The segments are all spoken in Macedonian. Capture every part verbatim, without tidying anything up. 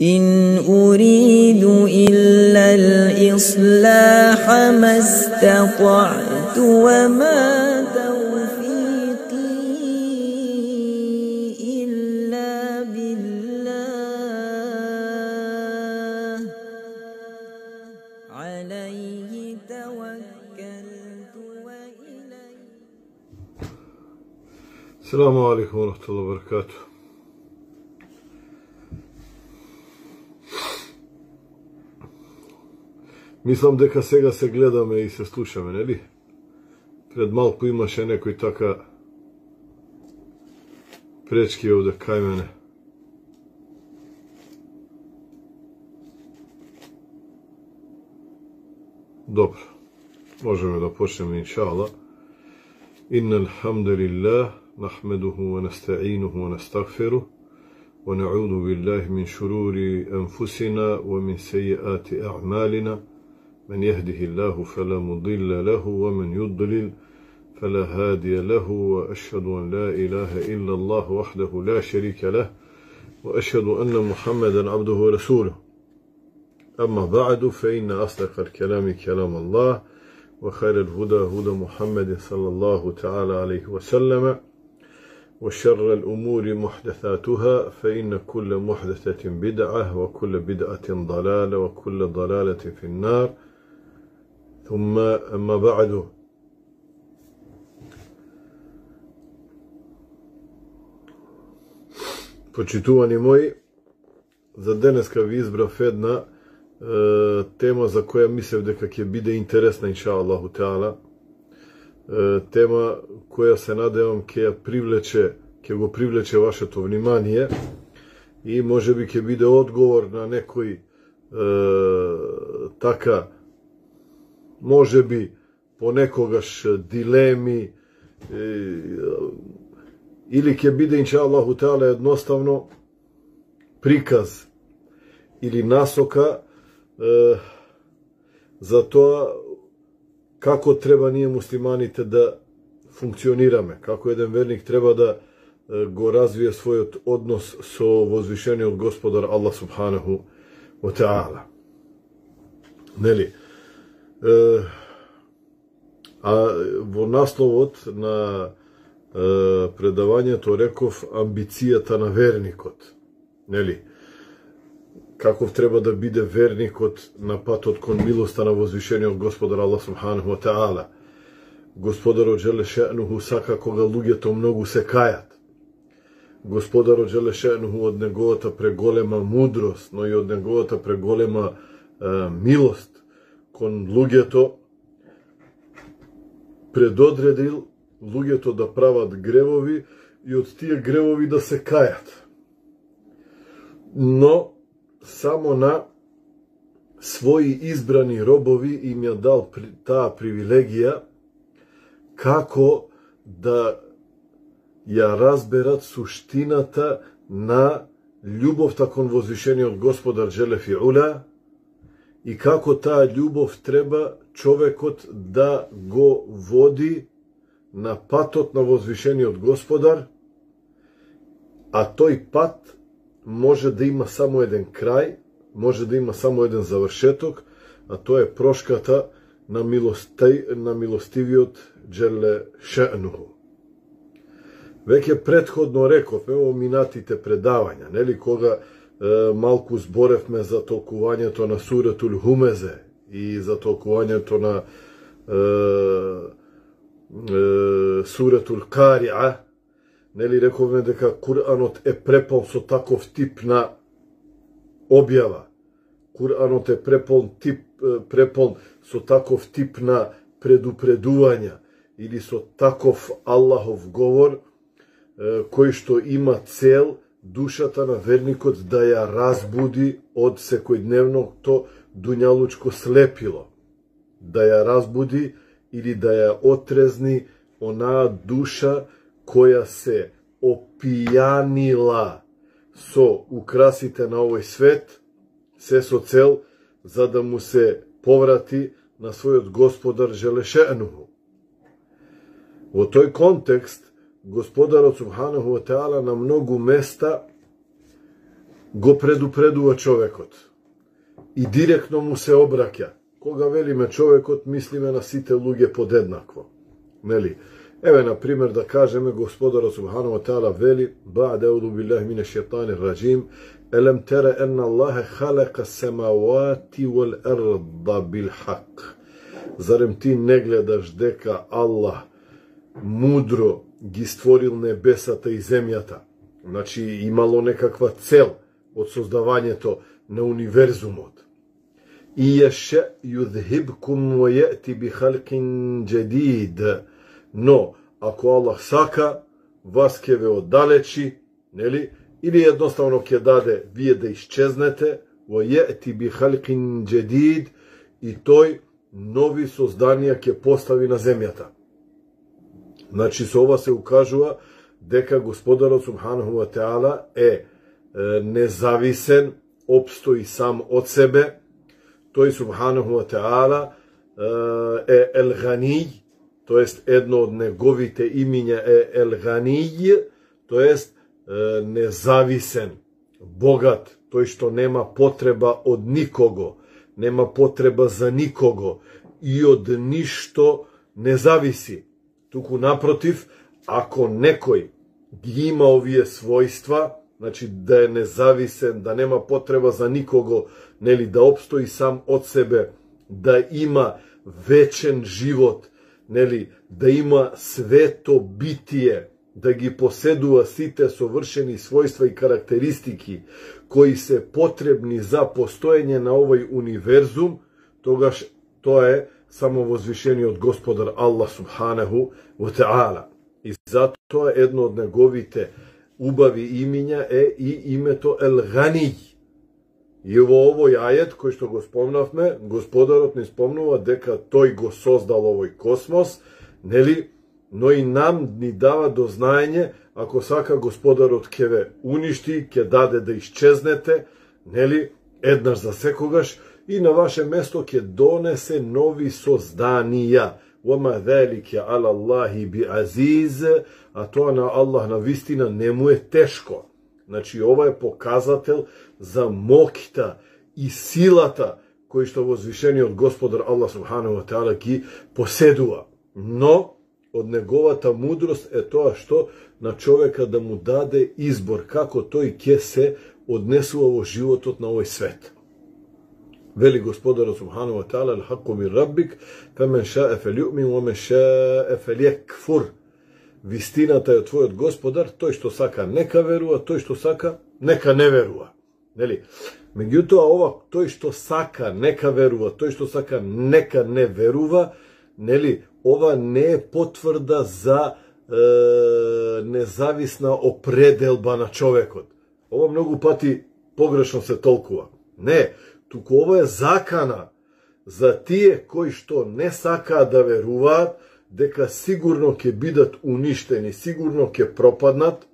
إن أريد إلا الإصلاح ما استطعت وما توفيقي إلا بالله عليه توكلت وإليه. السلام عليكم ورحمة الله وبركاته. Мислам дека сега се гледаме и се слушаме, нели? Пред малку имаше некој така пречки овде кај мене. Добро, можеме да почнеме иншаалла. Иннал хамдулиллах нахмедуху ва настаинуху ва настагфируh ва наъуду биллахи мин шурури анфусина ва мин сејиати аъмалина. من يهده الله فلا مضل له ومن يضلل فلا هادي له وأشهد أن لا إله إلا الله وحده لا شريك له وأشهد أن محمدا عبده ورسوله. أما بعد فإن أصدق الكلام كلام الله وخير الهدى هدى محمد صلى الله تعالى عليه وسلم وشر الأمور محدثاتها فإن كل محدثة بدعة وكل بدعة ضلالة وكل ضلالة في النار. ثم أما بعد почитувани мои, за денеска ви избрав една е, тема за која мислев дека ќе биде интересна инша Аллаху Теала. Е, тема која се надевам ќе ја привлече, ќе го привлече вашето внимание и можеби ќе биде одговор на некои е, така може би понекогаш дилеми е, или ќе биде инша Аллаху Теала едноставно приказ или насока е, за тоа како треба ние муслиманите да функционираме, како еден верник треба да е, го развие својот однос со возвишениот Господар Аллах субханаху ва таала. Нели? Uh, а во насловот на uh, предавањето реков амбицијата на верникот. Нели? Каков треба да биде верникот на патот кон милоста на возвишениот Господар Аллах субханаху ва таала. Господарот џеле ше'нуху сака кога луѓето многу се кајат. Господарот џеле ше'нуху од неговата преголема мудрост, но и од неговата преголема uh, милост кон луѓето предодредил луѓето да прават гревови и од тие гревови да се кајат. Но само на своји избрани робови им ја дал таа привилегија како да ја разберат суштината на љубовта кон возвишениот Господар џеле фи ула и како таа љубов треба човекот да го води на патот на возвишениот Господар, а тој пат може да има само еден крај, може да има само еден завршеток, а тоа е прошката на, милостей, на милостивиот џеле ше'нуху. Веќе претходно реков, во минатите предавања, нели, кога малку зборевме за толкувањето на суретул Хумезе и за толкувањето на е, е, суретул Кариа, нели рековме дека Куранот е препон со таков тип на објава. Куранот е препон тип препон со таков тип на предупредувања или со таков Аллахов говор е, кој што има цел душата на верникот да ја разбуди од секојдневното дуњалучко слепило, да ја разбуди или да ја отрезни онаа душа која се опијанила со украсите на овој свет, се со цел за да му се поврати на својот Господар џеле ше'нуху. Во тој контекст Господарот Субханаху ва Теала на многу места го предупредува човекот и директно му се обраќа. Кога велиме човекот, мислиме на сите луѓе подеднакво. Нели? Еве, на пример, да кажеме, Господарот Субханаху ва Теала вели: "Ба'де а'удhu billahi minash shaitanir rajim, elem tara anna Allaha khalaqa as-samawati wal arda bil haqq." Зарем ти не гледаш дека Аллах мудро ги створил небесата и земјата? Значи имало некаква цел од создавањето на универзумот. И яше юдхибкум ва јати би халкин джадид. Но ако Аллах сака, вас ќе ве оддалечи, нели? Или едноставно ќе даде вие да исчезнете, ва јати би халкин джадид, и тој нови созданија ќе постави на земјата. Значи со ова се укажува дека Господарот Субханаху ва Теала е, е независен, опстои сам од себе. Тој Субханаху ва Теала е Ел-Ганиј, тоест едно од неговите имиња е Ел-Ганиј, тоест независен, богат, тој што нема потреба од никого, нема потреба за никого и од ништо не зависи. Туку напротив, ако некој ги има овие својства, значи да е независен, да нема потреба за никого, нели, да обстои сам од себе, да има вечен живот, нели, да има свето битие, да ги поседува сите совршени својства и карактеристики кои се потребни за постоење на овој универзум, тогаш тоа е само возвишениот Господар Аллах Субханаху ва Теала. И затоа едно од неговите убави имиња е и името Ел-Ганиј. И во овој ајет кој што го спомнавме, Господарот ни спомнува дека тој го создал овој космос, нели? Но и нам ни дава до знаење, ако сака Господарот ќе ве уништи, ќе даде да исчезнете, нели, еднаш за секогаш, и на ваше место ќе донесе нови созданија. Вама велике ала Аллахи би азиз, а тоа на Аллах на вистина не му е тешко. Значи, ова е показател за моќта и силата кој што возвишениот Господар Аллах Субханаху ва Теала ги поседува. Но од неговата мудрост е тоа што на човека да му даде избор како тој ќе се однесува во животот на овој свет. Вели Господарот Субханаху ва Теала: "Ал-хакку мин раббик, фемен ша'a фелју'мин ва мен ша'a фелјекфур." Вистината е од твојот Господар, тој што сака нека верува, тој што сака нека не верува. Нели? Меѓутоа ова тој што сака нека верува, тој што сака нека не верува, нели? Ова не е потврда за е, независна определба на човекот. Ова многу пати погрешно се толкува. Не, туку ова е закана за тие кои што не сакаат да веруваат дека сигурно ќе бидат уништени, сигурно ќе пропаднат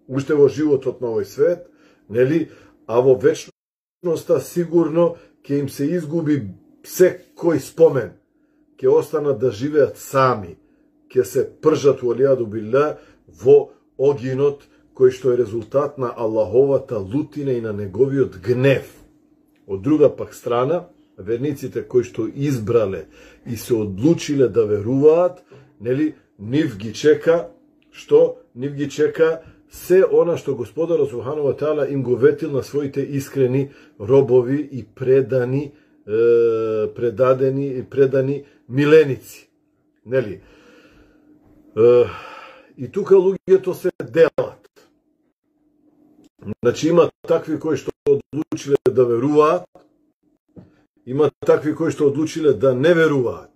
уште во животот на овој свет, нели? А во вечноста сигурно ќе им се изгуби секој спомен. Ќе останат да живеат сами, ќе се пржат валијаду билlah во огинот кој што е резултат на Аллаховата лутина и на неговиот гнев. Од друга пак страна, верниците кои што избрале и се одлучиле да веруваат, нели, нив ги чека, што? Нив ги чека се она што Господарот Субханаху ва Теала им го ветил на своите искрени робови и предани предадени и предани миленици. Нели? И тука луѓето се делат. Значи има такви кои што одлучиле да веруваат, има такви кои што одлучиле да не веруваат.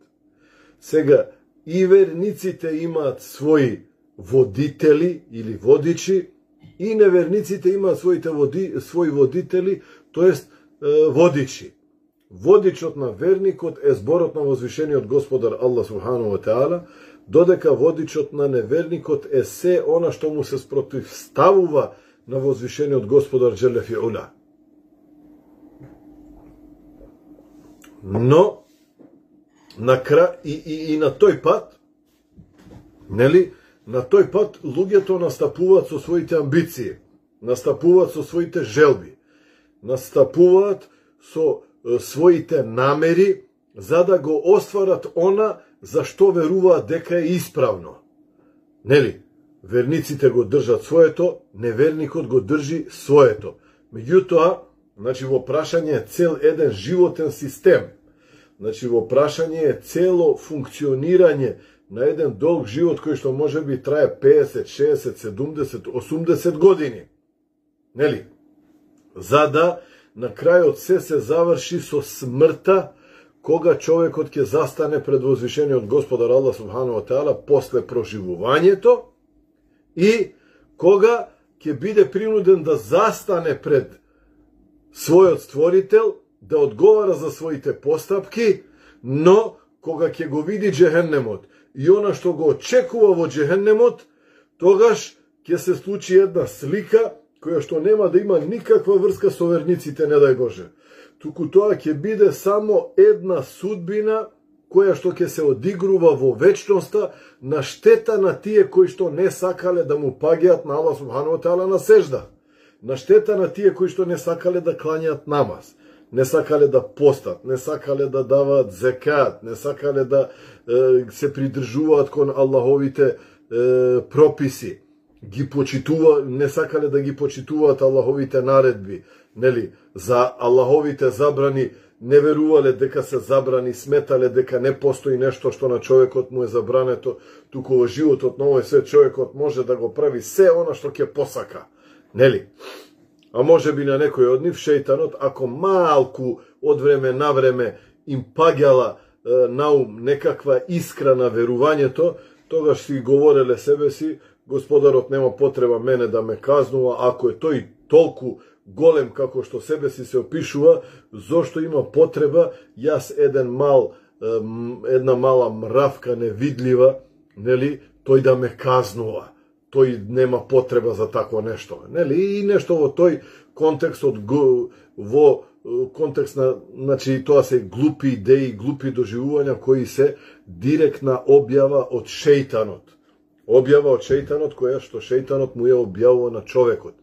Сега и верниците имаат своји водители или водичи, и неверниците имаат своите води, своји водители, тоест водичи. Водичот на верникот е зборот на возвишениот Господар Аллах Субханаху ва Теала, додека водичот на неверникот е се она што му се спротивставува на возвишениот Господар Джеле фи ула. Но на кра... и, и, и на тој пат, нели, на тој пат луѓето настапуваат со своите амбиции, настапуваат со своите желби, настапуваат со е, своите намери за да го остварат она за што веруваат дека е исправно. Нели? Верниците го држат своето, неверникот го држи своето. Меѓутоа, значи во прашање е цел еден животен систем. Значи во прашање е цело функционирање на еден долг живот кој што може би трае педесет, шеесет, седумдесет, осумдесет години. Нели? За да на крајот се се заврши со смртта, кога човекот ќе застане пред возвишениот Господар Аллах субхану ва таала после проживувањето и кога ќе биде принуден да застане пред својот Створител, да одговара за своите постапки, но кога ќе го види джехеннемот и она што го очекува во джехеннемот, тогаш ќе се случи една слика која што нема да има никаква врска со верниците, не дај Боже. Туку тоа ќе биде само една судбина која што ќе се одигрува во вечноста на штета на тие кои што не сакале да му паѓаат на Аллах субхану ва таала на сежда. На штета на тие кои што не сакале да клањаат намаз, не сакале да постат, не сакале да даваат зекат, не сакале да е, се придржуваат кон Аллаховите е, прописи, ги почитува, не сакале да ги почитуваат Аллаховите наредби, нели, за Аллаховите забрани не верувале дека се забрани, сметале дека не постои нешто што на човекот му е забрането, туку во животот на овој свет човекот може да го прави се она што ќе посака, нели? А може би на некој од нив шејтанот, ако малку од време на време им паѓала е, на ум некаква искра на верувањето, тогаш си говореле себе си, Господарот нема потреба мене да ме казнува, ако е тој толку голем како што себе си се опишува, зошто има потреба јас еден мал, една мала мравка невидлива, нели, тој да ме казнува. Тој нема потреба за такво нешто, нели? И нешто во тој контекст од во контекст на, значи тоа се глупи идеи, глупи доживувања кои се директна објава од шејтанот. Објава од шејтанот која што шејтанот му ја објавува на човекот.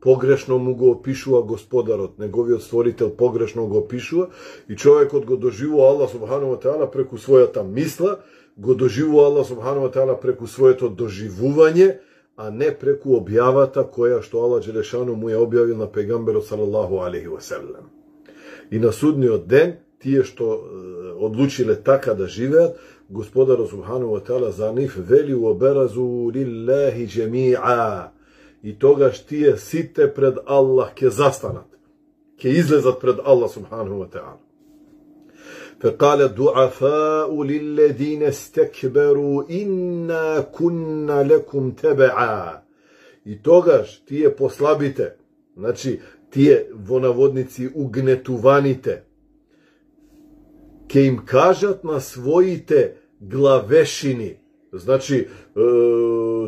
Погрешно му го опишува Господарот, неговиот Створител погрешно го опишува и човекот го доживува Аллах субхану ва таала преку својата мисла, го доживува Аллах субхану ва таала преку своето доживување, а не преку објавата која што Аллах Джелешану му ја објавил на пегамберот салаллаху алейхи ва селем. И на судниот ден, тие што е, одлучиле така да живеат, Господарот субхану ва таала за нив вели оберазу лиллахи джеми'a. И тогаш тие сите пред Аллах ќе застанат, ќе излезат пред Аллах субхану ва таала. فقال الضعفاء للذين استكبروا إنا كنا لكم تبعا. И тогаш тие послабите, значи тие во наводници угнетуваните, ќе им кажат на своите главешини, значи е,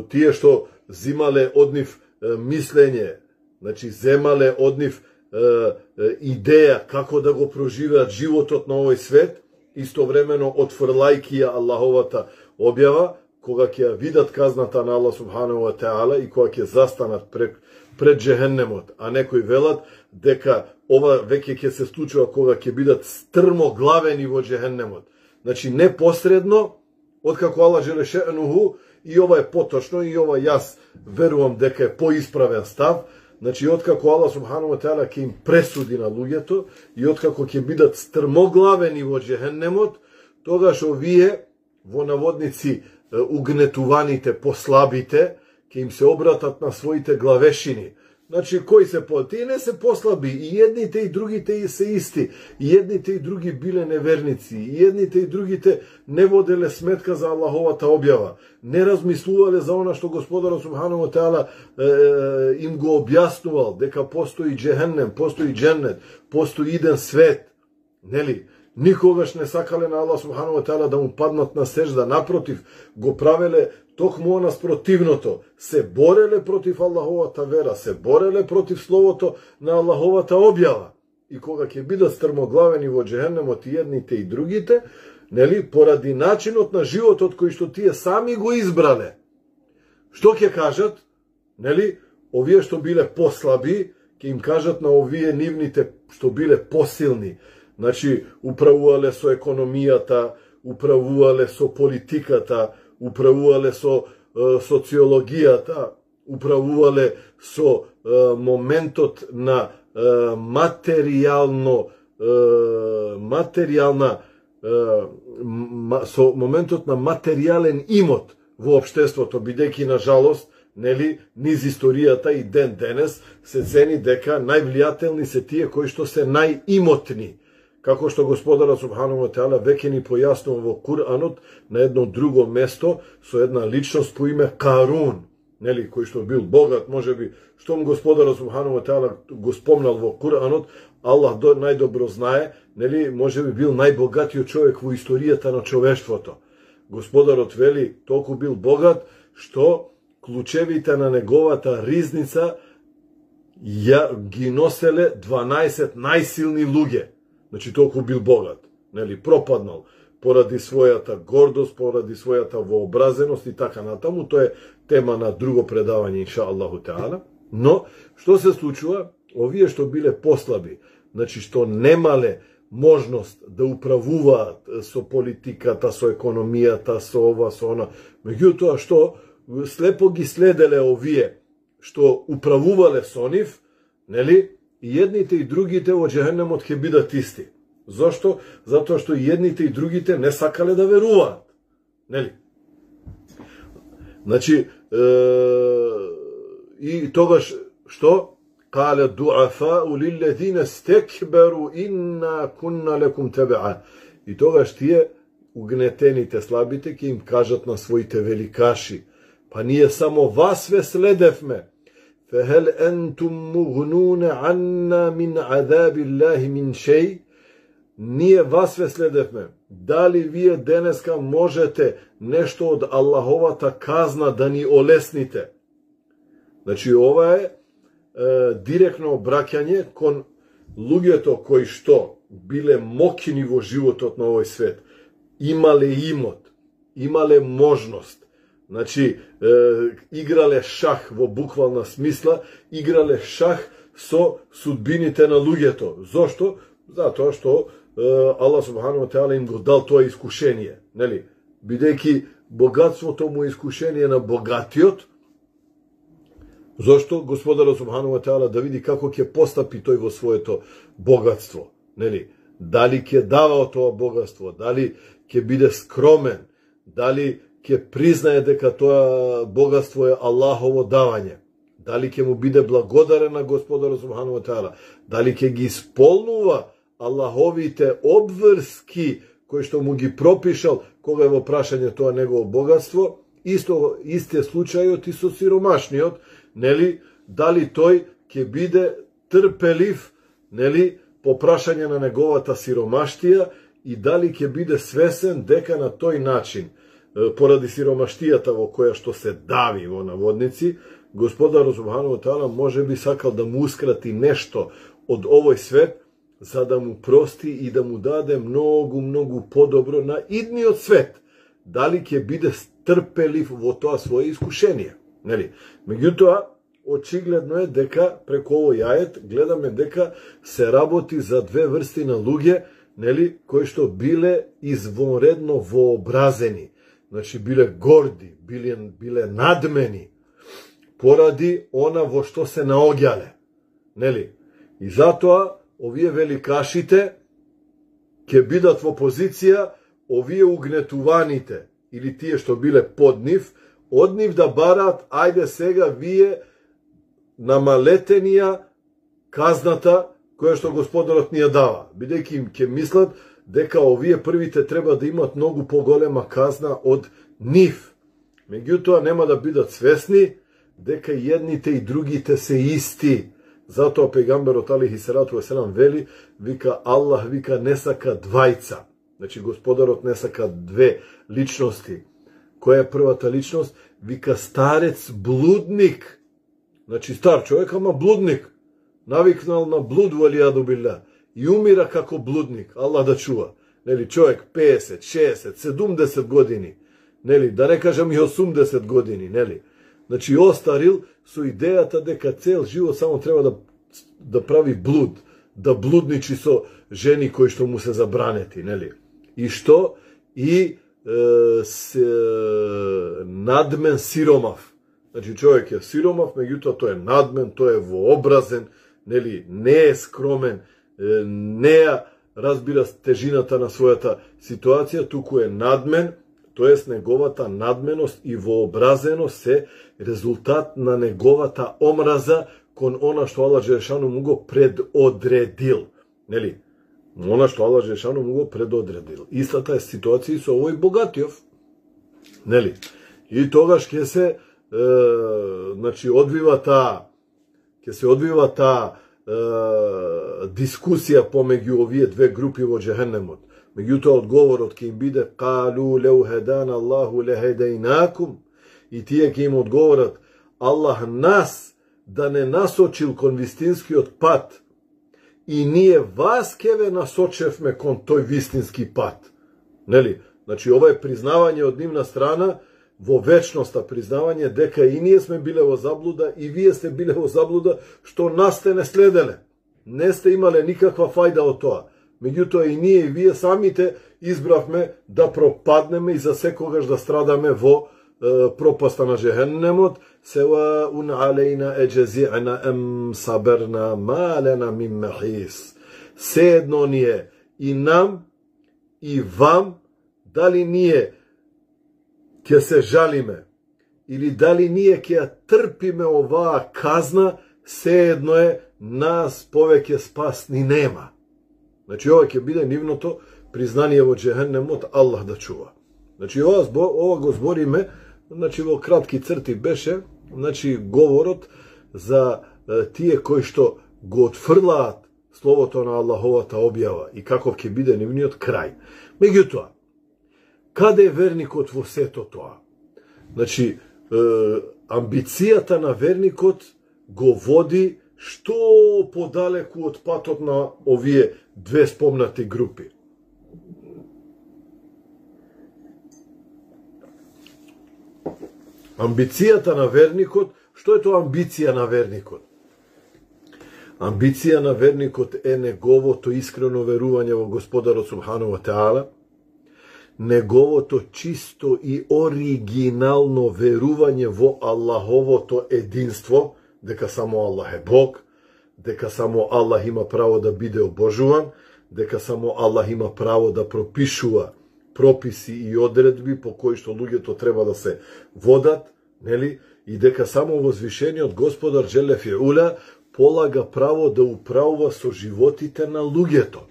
тие што зимале од нив е, мислење, значи земале од нив е, е, идеја како да го проживеат животот на овој свет, истовремено отфрлајки ја Аллаховата објава, кога ќе ја видат казната на Аллах субхану ва таала и кога ќе застанат пред, пред джехеннемот, а некои велат дека ова веќе ќе се случува кога ќе бидат стрмоглавени во джехеннемот. Значи непосредно, откако Аллах Джелешенуху, и ова е поточно, и ова јас верувам дека е поисправен став, значи откако Аллах субхану ва таала ќе им пресуди на луѓето и откако ќе бидат стрмоглавени во джехеннемот, тогаш овие во наводници угнетуваните, послабите, ќе им се обратат на своите главешини. Значи, кои се по... Тие не се послаби, и едните и другите се исти, и едните и други биле неверници, и едните и другите не воделе сметка за Аллаховата објава, не размислувале за она што Господарот субхану ва таала е, им го објаснувал, дека постои джехеннем, постои дженнет, постои иден свет, нели? Никогаш не сакале на Аллах субхану ва таала да му паднат на сежда, напротив, го правеле токму наспротивното, се бореле против Аллаховата вера, се бореле против словото на Аллаховата објава. И кога ќе бидат стрмоглавени во джехеннемот и едните и другите, нели, поради начинот на животот кој што тие сами го избрале, Што ќе кажат? Нели? Овие што биле послаби, ќе им кажат на овие нивните што биле посилни. Значи, управувале со економијата, управувале со политиката, управувале со е, социологијата, управувале со е, моментот на е, материјално е, материјална е, ма, со моментот на материјален имот во општеството, бидејќи на жалост, нели, низ историјата и ден денес се цени дека највлијателни се тие кои што се најимотни. Како што Господарот Субхану ва Теала веќе ни појаснува во Куранот на едно друго место со една личност по име Карун, нели, кој што бил богат, можеби, штом Господарот Субхану ва Теала го спомнал во Куранот, Аллах до, најдобро знае, нели, можеби бил најбогатиот човек во историјата на човештвото. Господарот вели, толку бил богат, што клучевите на неговата ризница ја ги носеле дванаесет најсилни луѓе. Значи, толку бил богат, нели, пропаднал поради својата гордост, поради својата вообразеност и така натаму. Тоа е тема на друго предавање, инша Аллаху Теала. Но, што се случува? Овие што биле послаби, значи, што немале можност да управуваат со политиката, со економијата, со ова, со она, меѓутоа што слепо ги следеле овие што управувале со нив, нели, и едните и другите во џехенемот ќе бидат исти. Зошто? Затоа што и едните и другите не сакале да веруваат. Нели? Значи, е, и тогаш што? Кале дуафау лиллезина стекберу инна кунна лекум тебеа. И тогаш тие угнетените, слабите, ќе им кажат на своите великаши: па ние само вас ве следевме. فهل أنتم مغنون عنا من عذاب الله من شيء? Ние вас ве следевме. Дали вие денеска можете нешто од Аллаховата казна да ни олесните? Значи, ова е, е директно обраќање кон луѓето кои што биле мокини во животот на овој свет. Имале имот, имале можност. Значи, е, играле шах во буквална смисла, играле шах со судбините на луѓето. Зошто? Затоа што е, Аллах Субхану ва Теала им го дал тоа искушение. Нели? Бидејќи богатството му е искушение на богатиот, зошто Господарот Субхану ва Теала да види како ќе постапи тој во своето богатство. Нели? Дали ќе дава од тоа богатство, дали ќе биде скромен, дали ќе признае дека тоа богатство е Аллахово давање, дали ќе му биде благодарен на Господарот Субхану ва Теала, дали ќе ги исполнува Аллаховите обврски кои што му ги пропишал кога е во прашање тоа негово богатство. Исто истиот случајот и со сиромашниот, нели, дали тој ќе биде трпелив, нели, по прашање на неговата сиромаштија и дали ќе биде свесен дека на тој начин, поради сиромаштијата во која што се дави во наводници, Господарот Субхану ва Теала може би сакал да му ускрати нешто од овој свет, за да му прости и да му даде многу, многу подобро на идниот свет. Дали ќе биде трпелив во тоа свое искушение. Нели? Меѓутоа, очигледно е дека преку овој ајет гледаме дека се работи за две врсти на луѓе, нели, кои што биле извонредно вообразени. Значи, биле горди, биле, биле надмени, поради она во што се наоѓале. Нели? И затоа, овие великашите ќе бидат во позиција, овие угнетуваните, или тие што биле под нив, од нив да бараат, ајде сега вие намалетенија казната која што Господарот ни ја дава. Бидејќи им ќе мислат дека овие првите треба да имат многу поголема казна од нив. Меѓутоа нема да бидат свесни дека едните и другите се исти. Затоа пегамберот алейхи салату веселам вели, вика Аллах, вика не сака двајца. Значи Господарот не сака две личности. Која е првата личност? Вика старец блудник. Значи стар човек, ама блудник. Навикнал на блуд валијаду билла. И умира како блудник. Аллах да чува. Нели, човек песет, шесет, седумдесет години. Нели, да не кажам и осумдесет години, нели. Значи, остарил со идејата дека цел живот само треба да, да прави блуд, да блудничи со жени кои што му се забранети, нели? И што? И е, се, надмен сиромав. Значи, човек е сиромав, меѓутоа тој е надмен, тој е вообразен, нели? Не е скромен, не ја разбира тежината на својата ситуација, туку е надмен, тоест неговата надменост и вообразеност се резултат на неговата омраза кон она што Аллах Джелешану му го предодредил. Нели? Она што Аллах Джелешану му го предодредил. Истата е ситуација со овој богатиов. Нели? И тогаш ќе се е, значи одвива таа ќе се одвива таа е, дискусија помеѓу овие две групи во џехенемот. Меѓутоа одговорот ќе им биде калу леу хедана Аллаху лехедейнакум, и тие ќе им одговорат Аллах нас да не насочил кон вистинскиот пат, и ние вас ке ве насочевме кон тој вистински пат. Нели? Значи ова е признавање од нивна страна во вечноста, признавање дека и ние сме биле во заблуда и вие сте биле во заблуда што нас сте не следеле. Не сте имале никаква фајда од тоа. Меѓутоа и ние и вие самите избравме да пропаднеме и за секогаш да страдаме во е, пропаста на џехенемот. Сева ун алейна еджези'на ем саберна ма лена мин мехис. Се едно ни е и нам и вам, дали ние ќе се жалиме или дали ние ќе ја трпиме оваа казна, се едно е, нас повеќе спас ни нема. Значи, ова ќе биде нивното признание во џехенемот, Аллах да чува. Значи, ова, ова го збориме, значи, во кратки црти беше, значи, говорот за е, тие кои што го отфрлаат словото на Аллаховата објава и каков ќе биде нивниот крај. Меѓутоа, каде е верникот во сето тоа? Значи, е, амбицијата на верникот го води што подалеку од патот на овие две спомнати групи. Амбицијата на верникот, што е тоа амбиција на верникот? Амбиција на верникот е неговото искрено верување во Господарот Субхану ва Теала, неговото чисто и оригинално верување во Аллаховото единство, дека само Аллах е Бог, дека само Аллах има право да биде обожуван, дека само Аллах има право да пропишува прописи и одредби по кои што луѓето треба да се водат, нели? И дека само возвишениот Господар Джеле Фиула полага право да управува со животите на луѓето.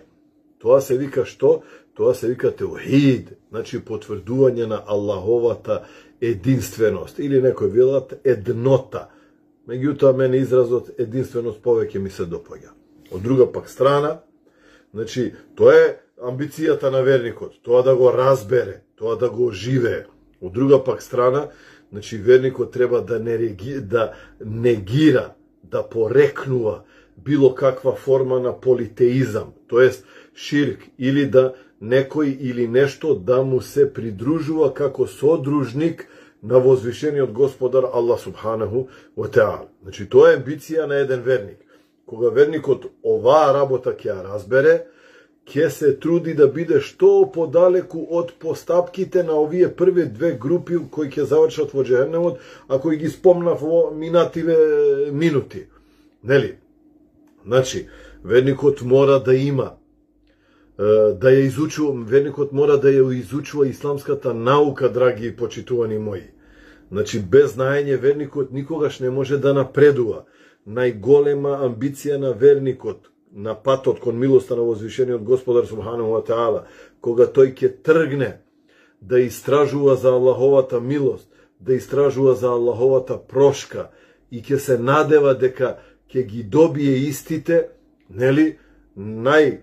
Тоа се вика што? Тоа се вика теухид, значи потврдување на Аллаховата единственост, или некој велат еднота. Меѓутоа, мене изразот единственост повеќе ми се допаѓа. Од друга пак страна, значи, тоа е амбицијата на верникот, тоа да го разбере, тоа да го оживее. Од друга пак страна, значи, верникот треба да, нереги, да негира, да порекнува било каква форма на политеизам, тоест ширк, или да некој или нешто да му се придружува како содружник на возвишениот Господар Аллах Субханаху ва Теала. Значи, тоа е амбиција на еден верник. Кога верникот оваа работа ќе ја разбере, ќе се труди да биде што подалеку од постапките на овие први две групи кои ќе завршат во џехенемот, ако ги спомнав во минативе минути. Нели? Значи, верникот мора да има, да ја изучува, верникот мора да ја изучува исламската наука, драги и почитувани мои. Значи, без знаење верникот никогаш не може да напредува. Најголема амбиција на верникот на патот кон милоста на возвишениот Господар Субхану ва Теала, кога тој ќе тргне да истражува за Аллаховата милост, да истражува за Аллаховата прошка и ќе се надева дека ќе ги добие истите, нели, нај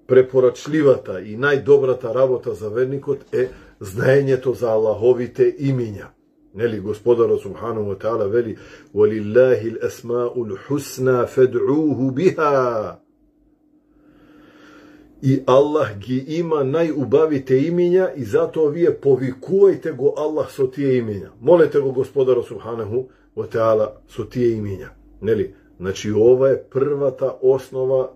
препорачливата и најдобрата работа за верникот е знаењето за Аллаховите имиња. Нели, Господарот Субхану ва Теала вели: И Allah ги има најубавите имиња и затоа вие повикувајте го Allah со тие имиња. Молете го Господарот Субханаху ва Теала со тие имиња. Нели? Значи ова е првата основа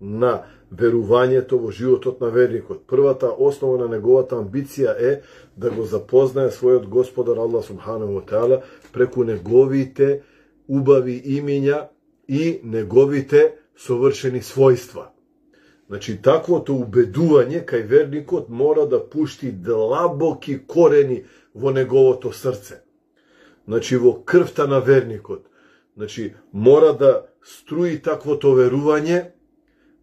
на верувањето во животот на верникот. Првата основа на неговата амбиција е да го запознае својот Господар Allah Субханаху ва Теала преку неговите убави имиња и неговите совршени својства. Значи, таквото убедување кај верникот мора да пушти длабоки корени во неговото срце. Значи, во крвта на верникот. Значи, мора да струи таквото верување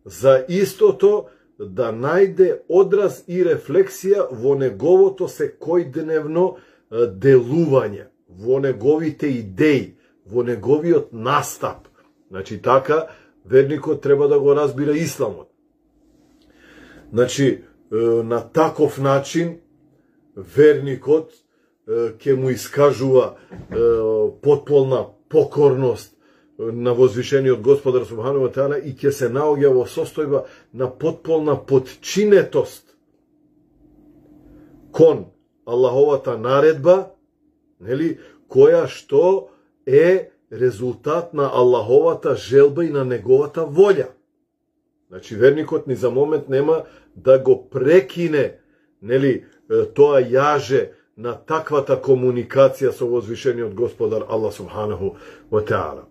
за истото да најде одраз и рефлексија во неговото секојдневно делување, во неговите идеи, во неговиот настап. Значи, така верникот треба да го разбира исламот. Значи, на таков начин верникот ќе му искажува потполна покорност на возвишениот Господар Субхану ва Теала и ќе се наоѓа во состојба на потполна подчинетост кон Аллаховата наредба, нели, која што е резултат на Аллаховата желба и на неговата волја. Значи, верникот ни за момент нема да го прекине, нели, тоа јаже на таквата комуникација со возвишениот Господар Аллах Субханаху ва Теала.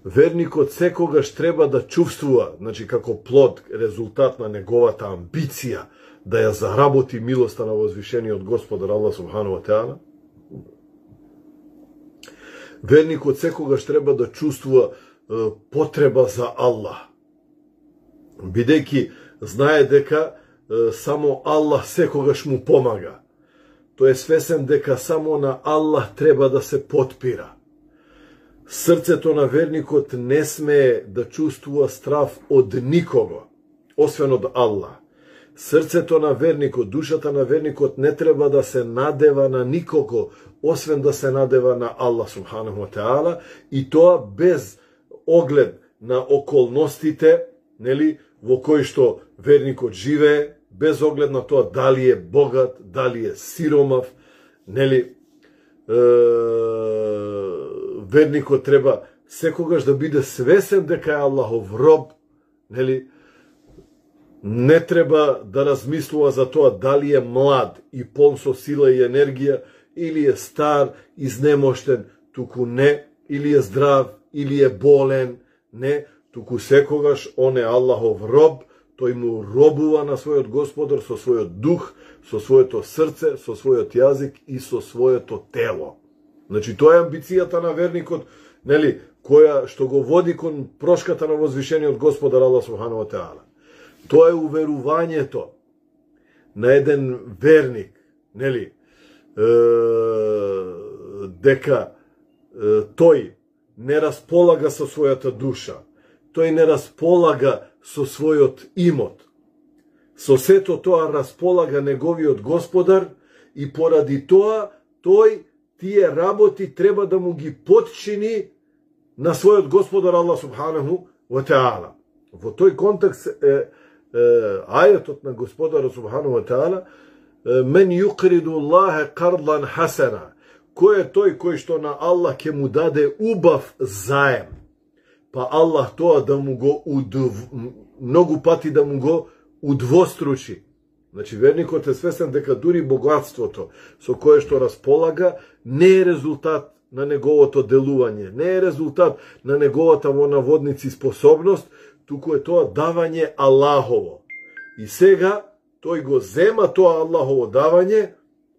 Верникот секогаш треба да чувствува, значи, како плод, резултат на неговата амбиција, да ја заработи милоста на возвишениот Господар Аллах Субханаху ва Теала. Верникот секогаш треба да чувствува е, потреба за Аллах, бидејќи знае дека е, само Аллах секогаш му помага. Тој е свесен дека само на Аллах треба да се потпира. Срцето на верникот не смее да чувствува страв од никого, освен од Аллах. Срцето на верникот, душата на верникот не треба да се надева на никого, освен да се надева на Аллах Субханаху ва Теала, и тоа без оглед на околностите, нели, во кои што верникот живее, без оглед на тоа дали е богат, дали е сиромав, нели, е, верникот треба секогаш да биде свесен дека е Аллахов роб, нели, не треба да размислува за тоа дали е млад и полн со сила и енергија, или е стар, изнемоштен, туку не, или е здрав, или е болен, не, туку секогаш он е Аллахов роб, тој му робува на својот Господар со својот дух, со своето срце, со својот јазик и со своето тело. Значи, тоа е амбицијата на верникот, нели, која што го води кон прошката на возвишениот Господар Аллах Субхану ва Теала. Тоа е уверувањето на еден верник, нели, е, дека е, тој не располага со својата душа, тој не располага со својот имот. Со сето тоа располага неговиот Господар и поради тоа тој тие работи треба да му ги подчини на својот Господар Аллах Субханаху ва Теала. Во тој контекст е ајетот на Господарот Субхану ва Теала: мен юқриду Аллахе кардан хасана. Кој е тој кој што на Аллах ќе му даде убав заем, па Аллах тоа да му го удв... многу пати да му го удвостручи. Значи, верникот е свесен дека дури богатството со кое што располага не е резултат на неговото делување, не е резултат на неговата во наводници способност, туку е тоа давање Аллахово. И сега тој го зема тоа Аллахово давање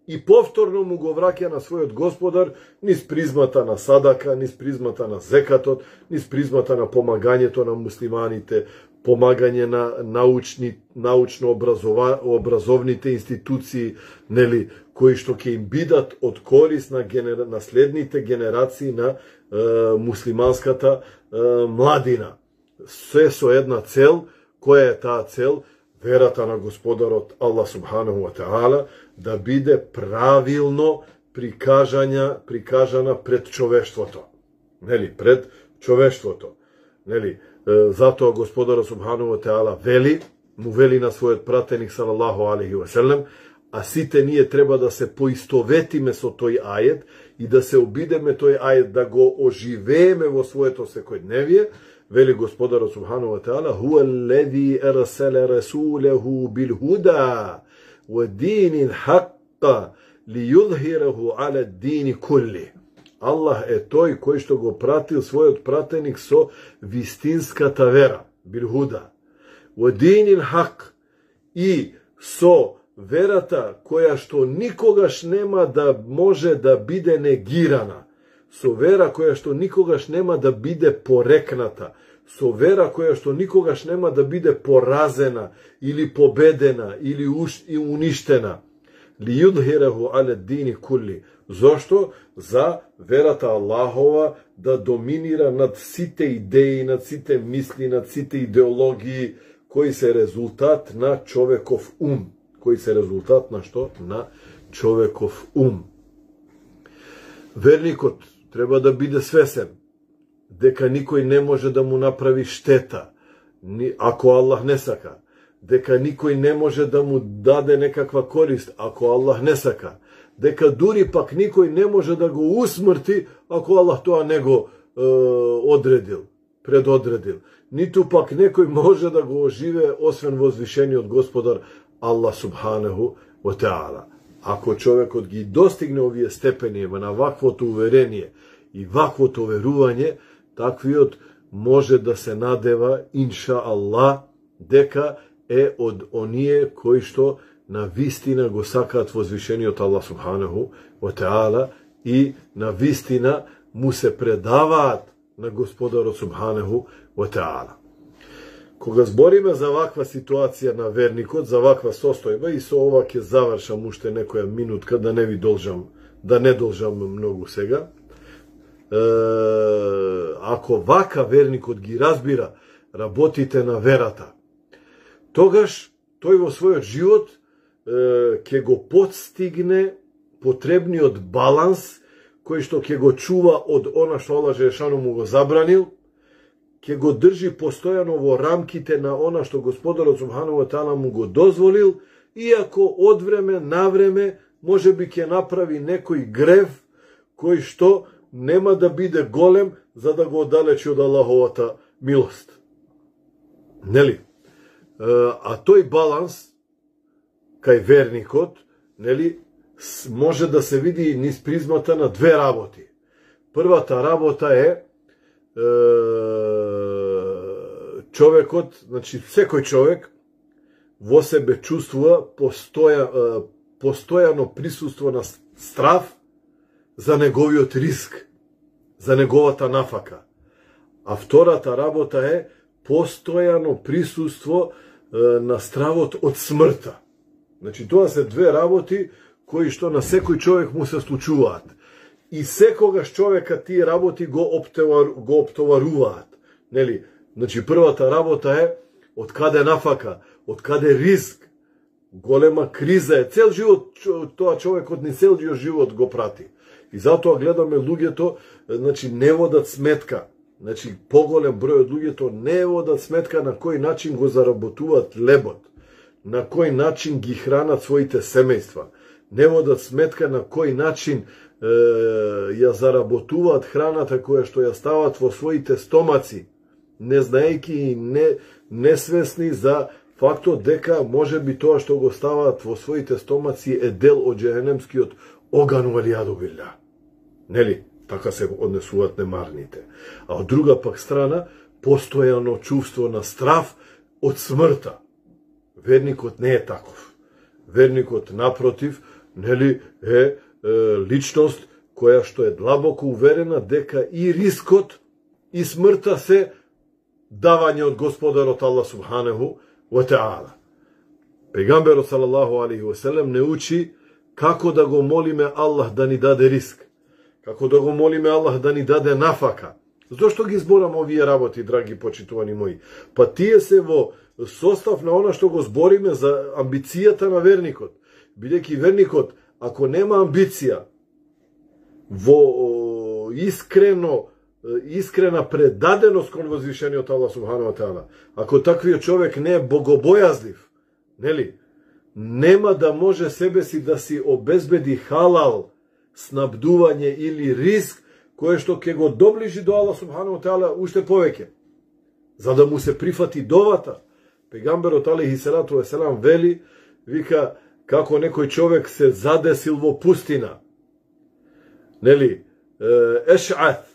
и повторно му го враќа на својот Господар низ призмата на садака, низ призмата на зекатот, низ призмата на помагањето на муслиманите, помагање на научни, научно образова, образовните институции, нели, кои што ќе им бидат од корис на, генера, на следните генерации на е, муслиманската е, младина. Се со една цел, која е таа цел? Верата на Господарот Аллах Субханаху ва Теала да биде правилно прикажања, прикажана пред човештвото. Нели, пред човештвото. Нели, затоа Господарот Субханаху ва Теала вели, му вели на својот пратеник салалаху алейхи ве селем, а сите ние треба да се поистоветиме со тој ајет и да се обидеме тој ајет, да го оживееме во своето секојдневие. Вели Господарот субхану ва таала: "Хуа аллези арселе расулеху бил худа ва динил хакка лиюзхираху ала дини кулли." Аллах е тој кој што го пратил својот пратеник со вистинската вера, бил худа, ва динил хак, и со верата која што никогаш нема да може да биде негирана, со вера која што никогаш нема да биде порекната, со вера која што никогаш нема да биде поразена или победена или уништена. Ли юдхираху ала дини кулли. Зошто? За верата Аллахова да доминира над сите идеи, над сите мисли, над сите идеологии кои се резултат на човеков ум. Кои се резултат на што? На човеков ум. Верникот треба да биде свесен дека никој не може да му направи штета, ако Аллах не сака, дека никој не може да му даде некаква корист, ако Аллах не сака, дека дури пак никој не може да го усмрти, ако Аллах тоа не го е, одредил, предодредил. Ниту пак некој може да го оживе, освен возвишениот Господар Аллах субханаху ва таала. Ако човекот ги достигне овие степени на ваквото уверение и ваквото верување, таквиот може да се надева, инша Аллах, дека е од оние кои што на вистина го сакаат возвишениот Аллах субханаху ва таала и на вистина му се предаваат на Господарот субханаху ва таала. Кога збориме за ваква ситуација на верникот, за ваква состојба, и со ова ќе завршам уште некоја минутка, да не ви должам, да не должам многу сега. Е, ако вака верникот ги разбира работите на верата, тогаш тој во својот живот е, ќе го подстигне потребниот баланс кој што ќе го чува од она што Аллах Желешану му го забранил, ќе го држи постојано во рамките на она што Господарот субхану ва таала му го дозволил, иако од време на време може би ќе направи некој грев кој што нема да биде голем за да го оддалечи од Аллаховата милост. Нели? А тој баланс кај верникот, нели, може да се види низ призмата на две работи. Првата работа е човекот, значи секој човек во себе чувствува постоја, постојано присуство на страв за неговиот риск, за неговата нафака. А втората работа е постојано присуство на стравот од смртта. Значи тоа се две работи кои што на секој човек му се случуваат. И секогаш човека тие работи го, оптовар, го оптоваруваат. Нели? Значи, првата работа е од каде нафака, од каде риск, голема криза е. Цел живот, тоа човекот ни цел живот го прати. И затоа гледаме луѓето, значи, не водат сметка. Значи, поголем број од луѓето не водат сметка на кој начин го заработуваат лебот, на кој начин ги хранат своите семејства, не водат сметка на кој начин ја заработуваат храната која што ја стават во своите стомаци, не знаејќи и не, несвесни за фактот дека може би тоа што го ставаат во своите стомаци е дел од џехенемскиот оган валијаду билла. Нели? Така се однесуваат немарните. А од друга пак страна, постојано чувство на страв од смртта. Верникот не е таков. Верникот, напротив, нели, е, е личност која што е длабоко уверена дека и рискот и смртта се давање од Господарот Аллах субханаху ва таала. Пегамберот салалаху алейхи ва селем не учи како да го молиме Аллах да ни даде риск, како да го молиме Аллах да ни даде нафака. Зошто ги зборам овие работи, драги почитувани мои? Па тие се во состав на она што го збориме за амбицијата на верникот. Бидејќи верникот, ако нема амбиција, во искрено искрена предаденост кон возвишениот Аллах субхану ва таала, ако таквиот човек не е богобојазлив, нели, нема да може себе си да си обезбеди халал снабдување или риск кое што ќе го доближи до Аллах субхану ва таала уште повеќе, за да му се прифати довата. Пегамберот алейхи салату ва селам вели, вика, како некој човек се задесил во пустина, нели, еш'ат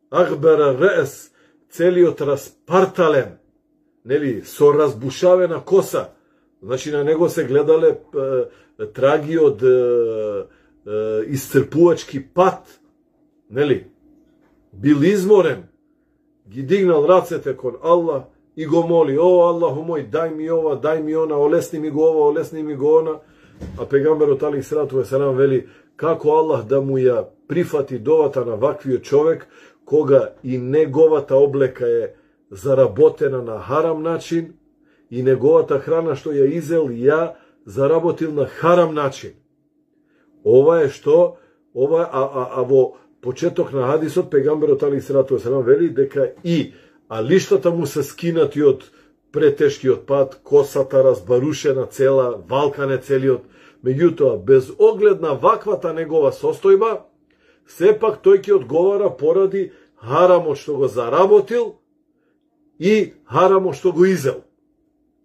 агбера ре'ес, целиот распартален, нели, со разбушавена коса, значи на него се гледале е, траги од е, е, исцрпувачки пат, нели, бил изморен, ги дигнал рацете кон Аллах и го моли, о Аллаху мој, дај ми ова, дај ми она, олесни ми го ова, олесни ми го она, а пегамберот алейхи салату ва селам вели, како Аллах да му ја прифати довата на ваквиот човек, кога и неговата облека е заработена на харам начин, и неговата храна што ја изел, ја заработил на харам начин. Ова е што, ова, а, а, а во почеток на хадисот, пегамберот алейхи салату ва селам вели дека и а лиштата му се скинати од претешкиот пат, косата разбарушена цела, валкане целиот. Меѓутоа, без оглед на ваквата негова состојба, сепак тој ќе одговара поради харамот што го заработил и харамот што го изел.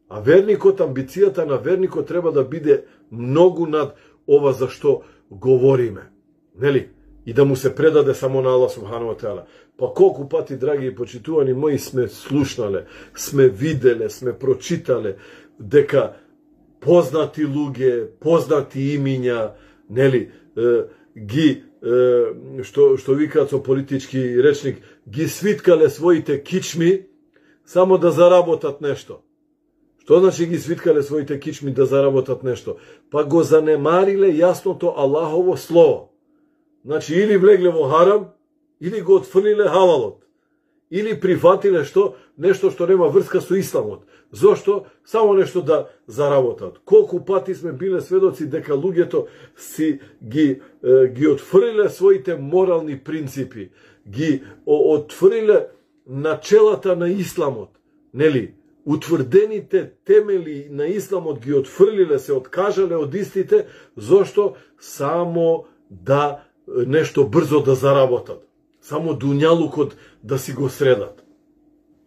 А верникот, амбицијата на верникот треба да биде многу над ова за што говориме. Нели? И да му се предаде само на Аллах субхану ва таала. Па колку пати, драги и почитувани мои, сме слушнале, сме виделе, сме прочитале дека познати луѓе, познати имиња, нели, е, ги, е, што, што викаат со политички речник, ги свиткале своите кичми само да заработат нешто. Што значи ги свиткале своите кичми да заработат нешто? Па го занемариле јасното Аллахово слово. Значи, или влегле во харам, или го отфрлиле халалот. Или прифатиле што? Нешто што нема врска со исламот. Зошто? Само нешто да заработат. Колку пати сме биле сведоци дека луѓето си ги, е, ги отфрлиле своите морални принципи, ги отфрлиле начелата на исламот, нели? Утврдените темели на исламот ги отфрлиле, се откажале од истите, зошто? Само да нешто брзо да заработат. Само дуњалукот да си го средат.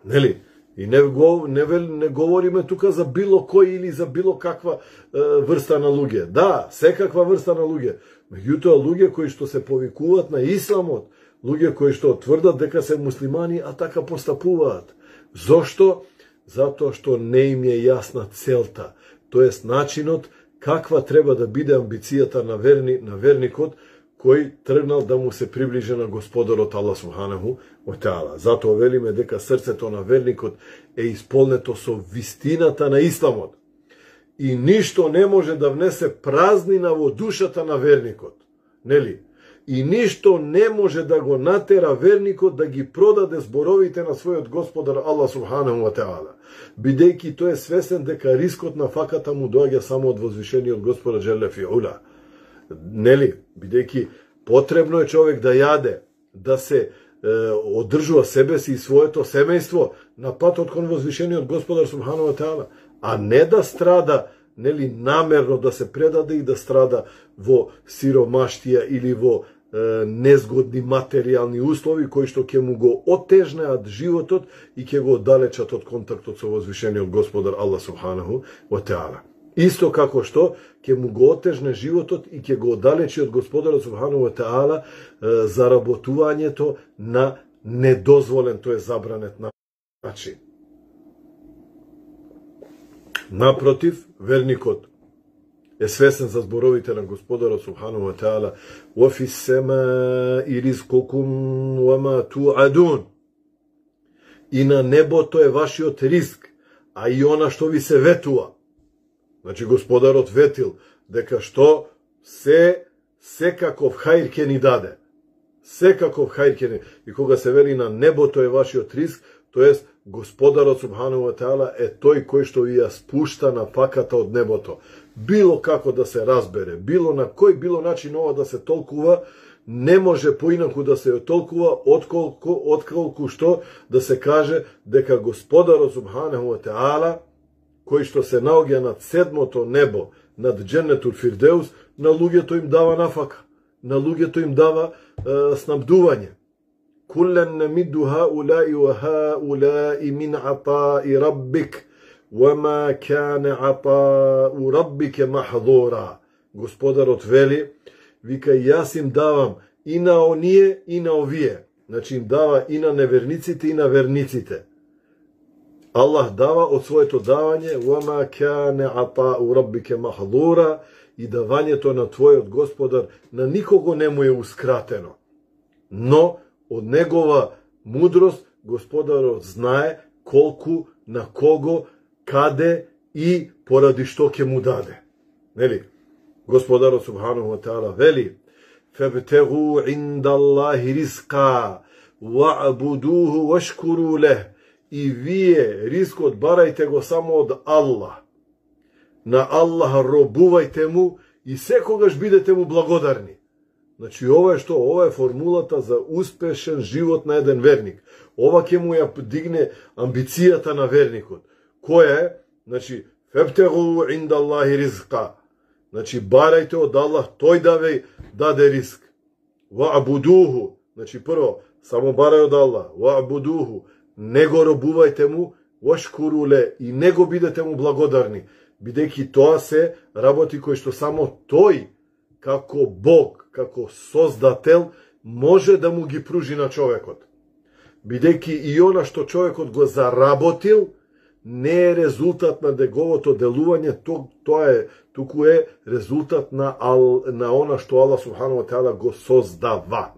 Нели? И не, го, не, не говориме тука за било кој или за било каква е, врста на луѓе. Да, секаква врста на луѓе. Меѓутоа, луѓе кои што се повикуваат на исламот, луѓе кои што тврдат дека се муслимани, а така постапуваат. Зошто? Затоа што не им е јасна целта. Тоест, начинот каква треба да биде амбицијата на, верни, на верникот, кој тргнал да му се приближи на Господарот Аллах субханаху ва таала. Затоа велиме дека срцето на верникот е исполнето со вистината на исламот. И ништо не може да внесе празнина во душата на верникот. Нели? И ништо не може да го натера верникот да ги продаде зборовите на својот Господар Аллах субханаху ва таала, бидејќи тој е свесен дека рискот на факата му доаѓа само од возвишениот Господар Джелле фи ула. Нели, бидејќи потребно е човек да јаде, да се е, одржува себе си и своето семејство на патот кон возвишениот Господар субхану ва таала, а не да страда, нели, намерно да се предаде и да страда во сиромаштија или во е, незгодни материјални услови кои што ќе му го отежнеат животот и ќе го оддалечат од контактот со возвишениот Господар Аллах субханаху ва таала. Исто како што ќе му го отежне животот и ќе го оддалечи од Господарот субхану ва таала заработувањето на недозволен, тој е забранет начин. Напротив, верникот е свесен за зборовите на Господарот субхану ва таала: "Ва фис сема'i ризкукум ва ма ту'адун." И на небото е вашиот риск, а и она што ви се ветува. Значи, Господарот ветил дека што се секаков хајр ќе ни даде. Секаков хајр ќе ни. И кога се вели на небото е вашиот риск, тоест Господарот субхану ва таала е тој кој што ви ја спушта на факата од небото. Било како да се разбере, било на кој било начин ова да се толкува, не може поинаку да се толкува отколку, отколку што да се каже дека Господарот Субханаху ва Теала, кој што се наоѓа над седмото небо, над Дженнетул Фирдеус, на луѓето им дава нафака, на луѓето им дава е, снабдување. Кулен намидду хаулаи ва хаулаи мин атаи раббик, вама кане атау раббике махдура. Господарот вели, вика, јас им давам и на оние и на овие. Значи им дава и на неверниците и на верниците. Аллах дава од своето давање, вама кане атау раббике махдура, и давањето на твојот Господар на никого не му еускратено. Но од негова мудрост Господарот знае колку, на кого, каде и поради што ќе му даде. Нели? Господарот Субханаху ва Теала вели: "Фабтагу инда Аллахи ризқа ва'будуху вашкуру лех." И вие рискот барајте го само од Аллах. На Аллаха робувајте му и секогаш бидете му благодарни. Значи, ова е што? Ова е формулата за успешен живот на еден верник. Ова ќе му ја дигне амбицијата на верникот. Која е? Значи, фабтагу инда Аллахи ризқа. Значи, барајте од Аллах, тој да ве даде риск. Ва'будуху. Значи, прво, само барај од Аллах. Ва'будуху. Не го робувајте му, вашкуру ле, и не го бидете му благодарни, бидејќи тоа се работи кои што само тој, како Бог, како создател, може да му ги пружи на човекот. Бидејќи и она што човекот го заработил, не е резултат на неговото делување, то, тоа е, туку е резултат на, ал, на она што Аллах Субханаху ва Теала го создава.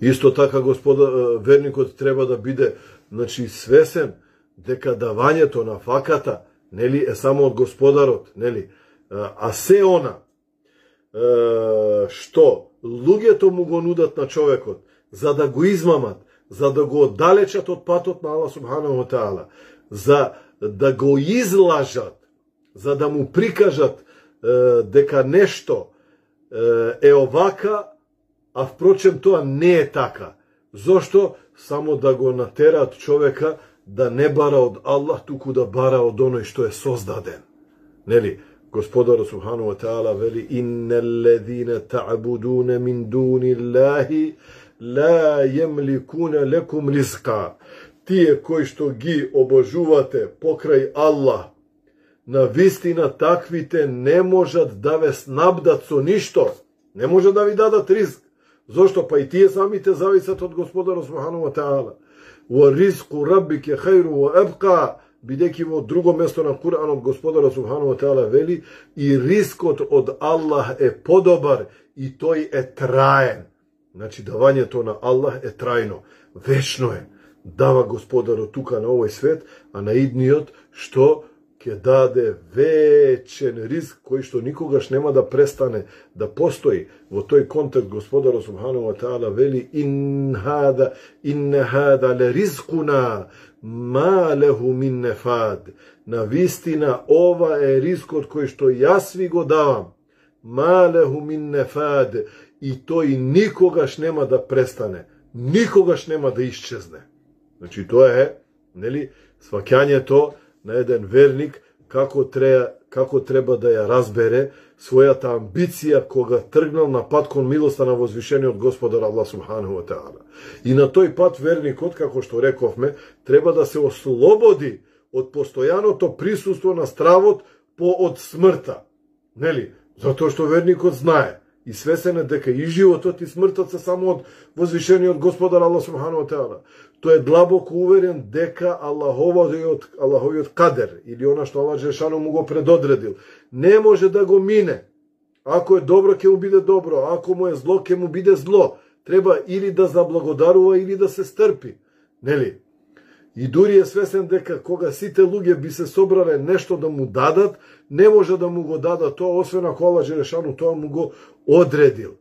Исто така, господа, верникот треба да биде, значи, свесен дека давањето на факата, нели, е само од Господарот, нели? А се она што луѓето му го нудат на човекот за да го измамат, за да го оддалечат од патот на Аллах Субханаху ва Теала, за да го излажат, за да му прикажат дека нешто е овака, а впрочем тоа не е така. Зошто? Само да го натераат човека да не бара од Аллах, туку да бара од оној што е создаден. Нели? Господарот Субханаху ва Теала вели: "Иннеллезина та'будуна мин дуниллахи ла јемликуна лекум ризқа." Тие кои што ги обожувате покрај Аллах, на вистина таквите не можат да ве снабдат со ништо, не може да ви дадат ризк. Зошто? Па и тие самите зависат од Господарот Субханаху ва Теала. "Ва ризқу раббике хајру ва абқа", бидејќи во друго место на Куранот Господарот Субханаху ва Теала вели: "И рискот од Аллах е подобар и тој е траен." Значи, давањето на Аллах е трајно, вечно е. Дава Господарот тука на овој свет, а на идниот што ќе даде вечен риск кој што никогаш нема да престане да постои. Во тој контекст Господарот Субханаху ва Теала вели: "Ин хада ин хада ле ризкуна ма леху мин нефад." На вистина ова е рискот кој што јас ви го давам. Ма леху мин нефад, и тој никогаш нема да престане, никогаш нема да исчезне. Значи, тоа е, нели, сваќањето на еден верник како треба, како треба да ја разбере својата амбиција кога тргнал на пат кон милоста на возвишениот Господар Аллах Субханаху ва Теала. И на тој пат верникот, како што рековме, треба да се ослободи од постојаното присуство на стравот по од смртта. Нели? Затоа што верникот знае и свесен е дека и животот и смртот се само од возвишениот Господар Аллах Субханаху ва Теала. Тој е длабоко уверен дека Аллаховиот, Аллаховиот кадер, или она што Аллах Джелешану му го предодредил, не може да го мине. Ако е добро, ќе му биде добро, ако му е зло, ќе му биде зло. Треба или да заблагодарува, или да се стрпи. Нели? И дури е свесен дека кога сите луѓе би се собрале нешто да му дадат, не може да му го дадат тоа, освен ако Аллах Джелешану тоа му го одредил.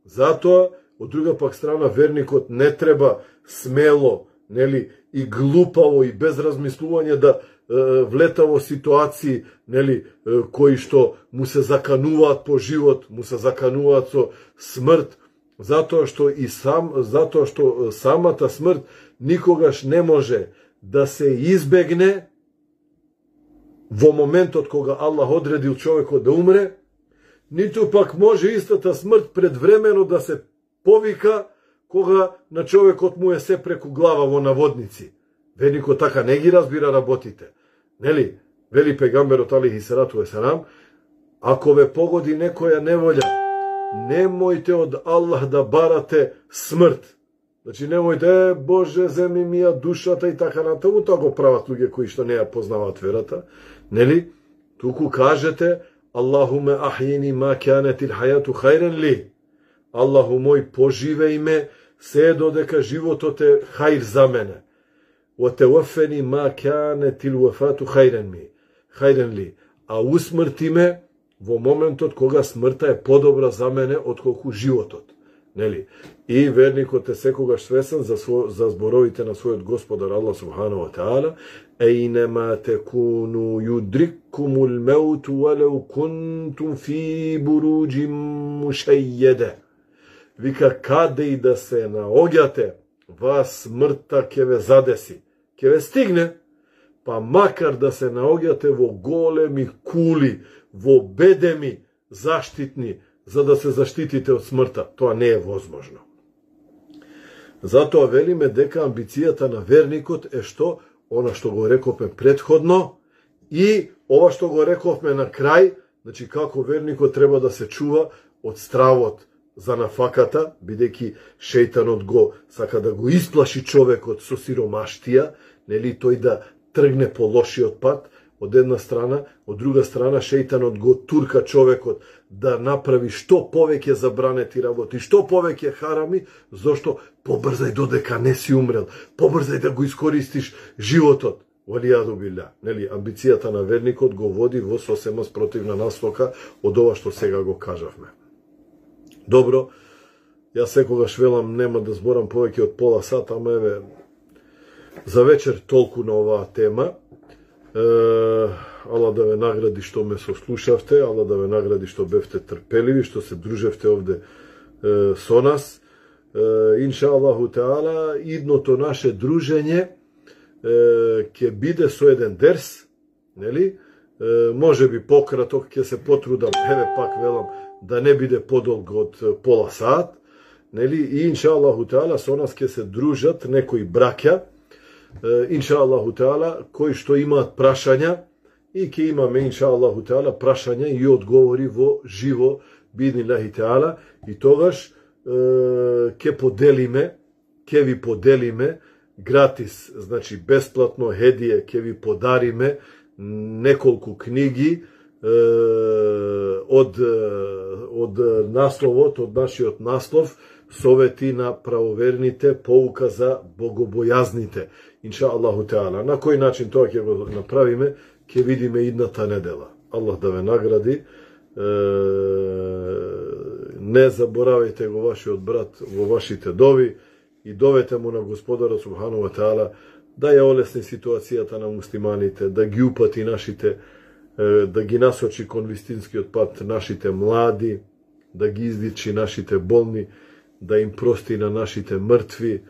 Затоа, од друга пак страна, верникот не треба смело, нели, и глупаво и без размислување да е, влета во ситуации, нели, е, кои што му се закануваат по живот, му се закануваат со смрт, затоа што и сам, затоа што самата смрт никогаш не може да се избегне во моментот кога Аллах одредил човекот да умре, ниту пак може истата смрт предвремено да се повика кога на човекот му е се преку глава во наводници. Верникот така не ги разбира работите. Нели? Вели пегамберот алейхи салату ве селам, ако ве погоди некоја неволја, немојте од Аллах да барате смрт. Значи немојте, е, Боже, земи ми ја душата и така натаму, тоа го прават луѓе кои што не ја познаваат верата. Нели? Туку кажете, Аллахуме ахјини ма кјанетил хајату хајрен ли. Аллаху мој, поживеј ме, се додека животот е хајр за мене. وتوفني ما كانت الوفاة خيرا ми. Хајрен ли. А усмрти ме во моментот кога смртта е подобра за мене отколку животот. Нели? И верникот е секогаш свесен за, сво, за зборовите на својот Господар Аллах субхану ва таала, Ейнема текуну юдриккумул меуту валеу кунтум фи буруджим мушејједе. Вика, каде и да се наоѓате, вас смртта ќе ве задеси, ќе ве стигне, па макар да се наоѓате во големи кули, во бедеми заштитни, за да се заштитите од смртта. Тоа не е возможно. Затоа велиме дека амбицијата на верникот е што? Она што го рековме предходно и ова што го рековме на крај, значи како верникот треба да се чува од стравот за нафаката, бидејќи шејтанот го сака да го исплаши човекот со сиромаштија, нели, тој да тргне по лошиот пат, од една страна, од друга страна шејтанот го турка човекот да направи што повеќе забранети работи, што повеќе харами, зошто побрзај додека не си умрел, побрзај да го искористиш животот. Валијаду билля. Нели, амбицијата на верникот го води во сосема спротивна насока од ова што сега го кажавме. Добро, јас секогаш велам нема да зборам повеќе од пола сат, ама еве за вечер толку на оваа тема. Е, Ала да ве награди што ме сослушавте, ала да ве награди што бевте трпеливи, што се дружевте овде е, со нас. Е, инша Аллаху Теала, идното наше дружење ќе биде со еден дерс, нели? Е, може би пократок, ќе се потрудам, еве пак велам, да не биде подолг од пола сат, нели? И инша Аллаху Теала со нас ќе се дружат некои браќа, инша Аллаху Теала, кои што имаат прашања, и ќе имаме, инша Аллаху Теала, прашања и одговори во живо, биднилахи Теала, и тогаш ќе поделиме, ќе ви поделиме гратис, значи бесплатно хедие, ќе ви подариме неколку книги од, од насловот, од нашиот наслов, совети на правоверните, поука за богобојазните, инша Аллаху Теала. На кој начин тоа ќе го направиме, ќе видиме идната недела. Аллах да ве награди. Не заборавајте го вашиот брат во вашите дови и довете му на Господара Субхану ва Таала да ја олесни ситуацијата на муслиманите, да ги упати нашите, да ги насочи кон вистинскиот пат нашите млади, да ги изличи нашите болни, да им прости на нашите мртви,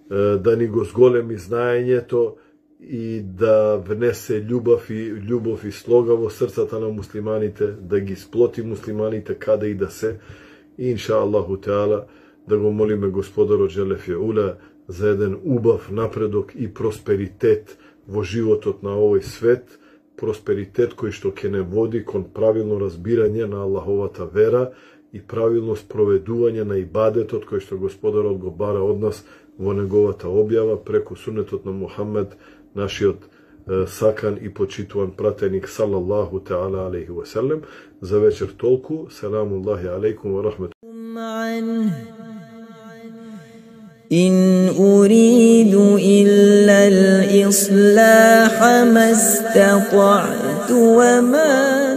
да ни го зголеми знаењето и да внесе љубов и љубов и слога во срцата на муслиманите, да ги сплоти муслиманите каде и да се. И инша Аллаху Теала да го молиме Господарот Джелефе Ула за еден убав напредок и просперитет во животот на овој свет, просперитет кој што ќе не води кон правилно разбирање на Аллаховата вера и правилно спроведување на ибадетот кој што Господарот го бара од нас во неговата објава преку сунетот на Мухаммед, нашиот е, сакан и почитуван пратеник салаллаху таала алейхи ва селем. За вечер толку. Селамуллахи алейкум ва рахмету. إن أريد إلا الإصلاح ما استطعت وما